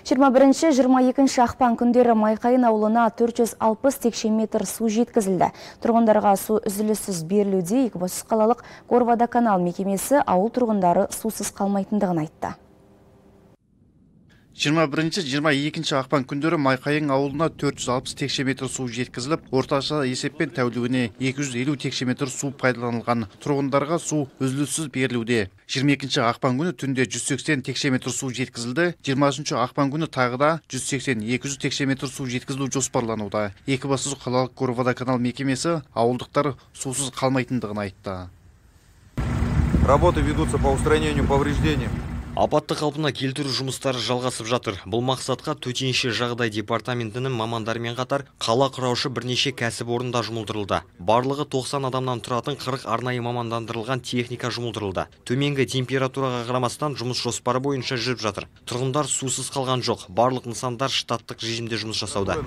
21-22 ақпан күндері Майқайын ауылына 460 текше метр су жеткізілді. Тұрғындарға су үзіліссіз берілуде. Екібастұз қалалық Горводоканал мекемесі ауыл тұрғындары сусыз қалмайтындығын айтты. 21-22 ақпан күндері Майқайың ауылына 460 текше метр су жеткізіліп, орташа есеппен тәулігіне 250 текше метр су пайдаланылған. Тұрғындарға су үзіліссіз берілуде. 22 ақпан күні түнде 180 текше метр су жеткізілді. 20 ақпан күні тағы да 180-200 текше метр су жеткізілу жоспарлануда. Екібастұз қалалық Горводоканал мекемесі ауылдықтар сусыз қалмайтындығын айтты. Работы ведутся по устранению повреждений. Апатты қалпына келтіру жұмыстары жалғасып жатыр. Бұл мақсатқа төтенше жағдай департаментінің мамандарымен қатар қала құраушы бірнеше кәсіпорында жұмылдырылды. Барлығы 90 адамнан тұратын 40 арнайы мамандандырылған техника жұмылдырылды. Төменгі температураға қарамастан жұмыс жоспары бойынша жүріп жатыр. Тұрғындар сусыз қалған жоқ. Барлық нысандар штаттық режимде жұмыс жасауда.